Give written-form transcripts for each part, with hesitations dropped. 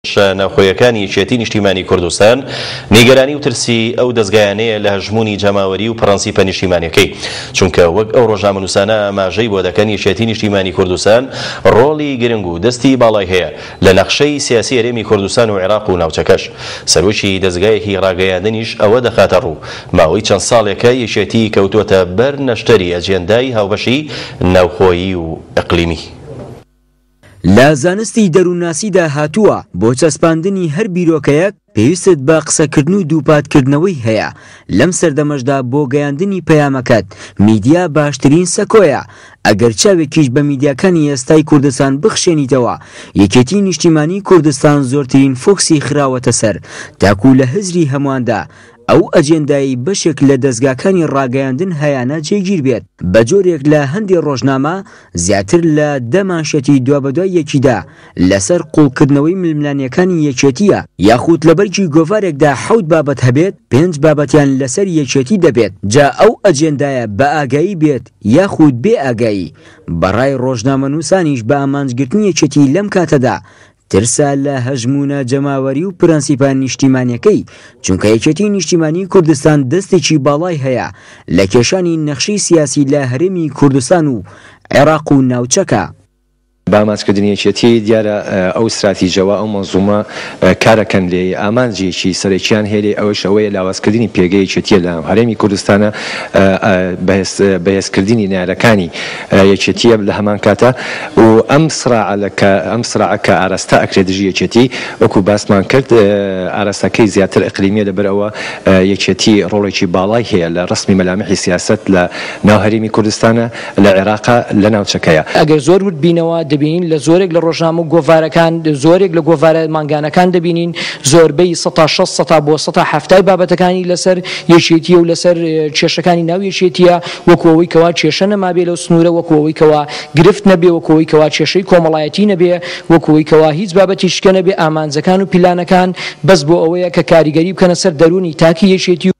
کێشە ناوخۆیەکانی یەکێتی نیشتیمانی کوردستان نیگەرانی و ترسی ئەو دەزگایانەیە لە هەژموونی جەماوەری و پڕەنسیپە نیشتیمانیەکەی، چونکە وەک ئەو ڕۆژنامەنووسانە ئاماژەی بۆ دەکەن یەکێتی نیشتیمانی کوردستان ڕۆڵی گرنگ و دەستی باڵای هەیە لە نەخشەی سیاسی هەرێمی کوردستان و عێراق و ناوچەکەش. سەرۆکی دەزگایەکی ڕاگەیاندنیش ئەوە دەخاتە ڕوو ماوەی چەند ساڵێکە یەکێتی کەوتووەتە بەر نەشتەری ئەجێندای هاوبەشی ناوخۆیی و ئیقلیمی. لە زانستی دەروونناسیدا هاتووە، بۆ چەسپاندنی هەر بیرۆکەیەک پێویستت بە قسەکردن و دووپاتکردنەوەی هەیە، لەم سەردەمەشدا بۆ گەیاندنی پەیامەکەت میدیا باشترین سەکۆیە، ئەگەر چاوێکیش بە میدیاکانی ئێستای کوردستان بخشێنیتەوە یەکێتی نیشتیمانی کوردستان زۆرترین فۆکسی خراوەتە سەر تاکو لە هزری هەمواندا ئەو ئەجێندایەی بەشێک لە دەزگاکانی ڕاگەیاندن هەیانە جێگیر بێت، بە جۆرێک لە هەندێ ڕۆژنامە زیاتر لە دە مانشێتی دوابەدوای یەکیدا لەسەر قوڵکردنەوەی ململانێکانی یەکێتییە، یاخود لە بەرگی گۆڤارێکدا حەوت بابەت هەبێت پێنج بابەتیان لەسەر یەکێتی دەبێت، جا ئەو ئەجێندایە بە ئاگایی بێت یاخود بێ ئاگایی، بە ڕای ڕۆژنامەنووسانیش بە ئامانجگرتنی یەکێتی لەم کاتەدا ترسە لە هەژموونە جەماوەری و پرەنسیپە نیشتیمانیەکەی، چونکە یەکێتی نیشتیمانی کوردستان دەستێکی باڵای هەیە لە کێشانی نەخشەی سیاسی لە هەرێمی کوردستان و عێراق و ناوچەکە. بە ئامانجکردنی یەکێتی دیارە ئەو ستراتیجەوە ئەو مەنزومە کارەکەن لێی ئامانجێکی سەرەکیان هەیە لێی ئەوەیش ئەوەیە لاوازکردنی پێگەی یەکێتیە لە هەرێمی کوردستانە بەهێزکردنی نەیارەکانی یەکێتیە لە هەمان کاتا و ئەم سراعە لە کە ئەم سراعە کە ئاراستە ئەکرێ دژی یەکێتی وەکو باسمان کرد ئاراستەکەی زیاتر ئیقلیمیە لەبەر ئەوە یەکێتی ڕۆڵێکی باڵای هەیە لە ڕەسمی مەلامحی سیاسەت لە ناو هەرێمی کوردستانە لە عێراقا لە ناوچەکەیە. ئەگەر زۆر ورد بینەوە دەبینین لە زۆرێک لە ڕۆژنامە و گۆڤارەکان زۆرێک لە گۆڤارە مانگانەکان دەبینین زۆربەی سەتا 60 سەتا بۆ سەتا حەفتای بابەتەکانی لەسەر یەکێتیە و لەسەر کێشەکانی ناو یەکێتیە وەکو ئەوەی کەوا کێشە نەمابێ لەو سنوورە، وەکو ئەوەی کەوا گرفت نەبێ، وەکو ئەوەی کەوا کێشەی کۆمەڵایەتی نەبێ، وەکو ئەوەی کەوا هیچ بابەتی شکە نەبێ، ئامانجەکان و پیلانەکان بەس بۆ ئەوەیە کە کاریگەری بکەنە سەر دەروونی تاکی یەکێتی و.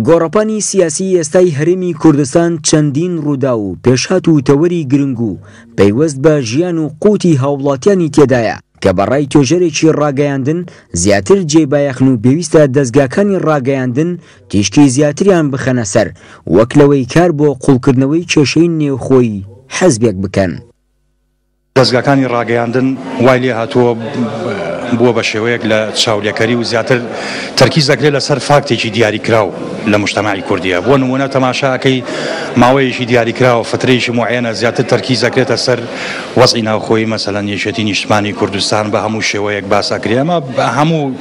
گۆڕەپانی سیاسیی ئێستای هەرێمی کوردستان چەندین ڕووداو و پێشهات و تەوەری گرنگ و پەیوەست بە ژیان و قوتی هاووڵاتیانی تێدایە کە بە ڕای توێژەرێکی ڕاگەیاندن زیاتر جێی بایەخن و پێویستە دەزگاکانی ڕاگەیاندن تیشکی زیاتریان بخەنە سەر وەک لەوەی کار بۆ قوڵکردنەوەی کێشەی نێوخۆی حزبێک بکەن. دەزگاکانی ڕاگەیاندن وای لێهاتووە بووە بە شێوەیەک لە چاولێکەری و زیاتر تەرکیز دەکرێت لەسەر فاکتێکی دیاریکراو لە مجتەمەعی کوردیە بۆ نموونە تەماشا ئەکەی ماوەیەکی دیاریکراوە فترەیەکی موعەیەنە زیاتر تەرکیز دەکرێتە سەر وەزعی ناوخۆیی مەسەلەن یەکێتی نیشتمانی کوردستان بە هەموو شێوەیەک باس ئەکرێ ئەمە هەموو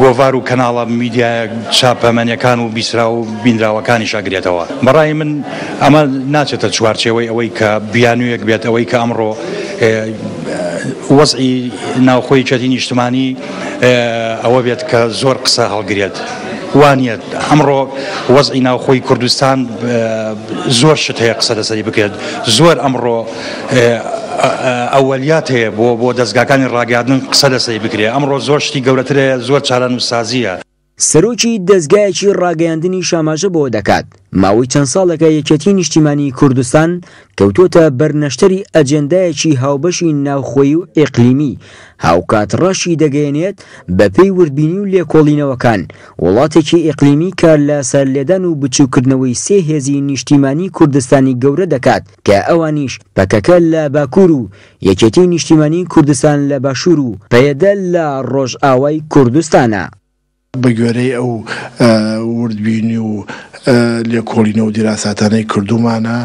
گۆڤار و کەناڵە میدیایە چاپەمەنیەکان و بیسراو و بینراوەکانیش ئەگرێتەوە بەڕای من ئەمە ناچێتە چوارچێوەی ئەوەی کە بیانوویەک بێت ئەوەی کە ئەمڕۆ وەزعی ناوخۆی یەکێتی نیشتمانی ئەوە بێت کە زۆر قسە هەڵگرێت وانییە ئەمڕۆ وەزعی ناوخۆی کوردستان زۆر شت هەیە قسە لەسەری بکرێت زۆر ئەمڕۆ ئەوەلیات هەیە بۆ بۆ دەزگاکانی ڕاگەیاندن قسە لەسەری بکرێت ئەمڕۆ زۆر شتی گەورەتر هەیە زۆر چارەنووسسازییە. سەرۆکی دەزگایەکی ڕاگەیاندنیش ئاماژە بەوە دەکات، ماوەی چەند ساڵێکە یەکێتیی نیشتیمانیی کوردستان کەوتووەتە بەر نەشتەری ئەجێندایەکی هاوبەشی ناوخۆیی و ئیقلیمی، هاوکات ڕاشی دەگەیەنێت، بەپێی وردبینی و لێکۆڵینەوەکان، وڵاتێکی ئیقلیمی کار لە سەرلێدان و بچووککردنەوەی سێ هێزی نیشتیمانیی کوردستانی گەورە دەکات کە ئەوانیش پەکەکە لە باکوور و یەکێتیی نیشتیمانیی کوردستان لە باشوور و پەیەدە لە ڕۆژئاوای کوردستانە. بە گوێرەی ئەو وردبینی و لێکۆڵینەوە و دیراساتانەی کردوومانە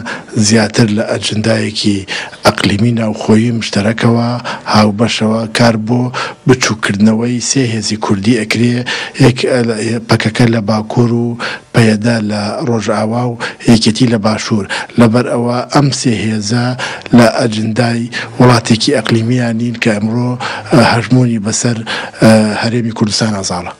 زیاتر لە ئەجندایەکی ئەقلیمی ناوخۆیی مشتەرەکەوە، هاوبەشەوە، کار بۆ بچووککردنەوەی سێ هێزی کوردی ئەکرێ، یەک پەکەکە لە باکوور و پەیەدە لە ڕۆژئاوا و یەکێتی لە باشوور، لەبەر ئەوە ئەم سێ هێزە لە ئەجندای وڵاتێکی ئەقلیمییا نین کە ئەمڕۆ هەژموونی بەسەر هەرێمی کوردستانا زاڵە.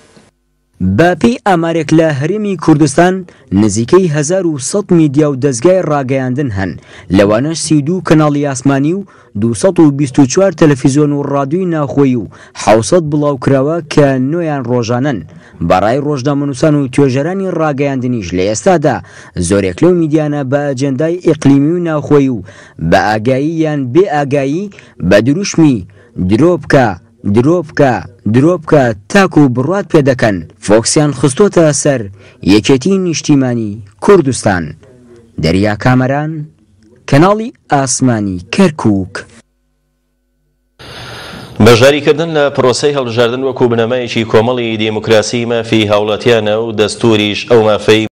بە پێی ئامارێک لە هەرێمی کوردستان نزیکەی 1100 میدیا و دەزگای ڕاگەیاندن هەن، لەوانەش 32 کەناڵی ئاسمانی و 224 تەلەفیزیۆن و ڕادیۆی ناوخۆیی و 700 بڵاوکراوە کە نۆیان ڕۆژانەن. بە ڕای ڕۆژنامەنووسان و توێژەرانی ڕاگەیاندنیش لە ئێستادا زۆرێک لەو میدیانە بە ئەجێندای ئیقلیمی و ناوخۆیی و بە ئاگایی یان بێ ئاگایی بە دروشمی درۆ بکە، درۆ بکە، درۆ بکە تاکو بڕوات پێ دەکەن، فۆکسیان خستۆتە سەر یەکێتی نیشتیمانی کوردستان. دەریا کامەران، کەناڵی ئاسمانی کەرکوک. بەشداریکردن لە پرۆسەی هەڵبژاردن وەکو بنەمایەکی کۆمەڵی دیموکراسی مافی هاوڵاتیانە و دەستوریش ئەو مافەی.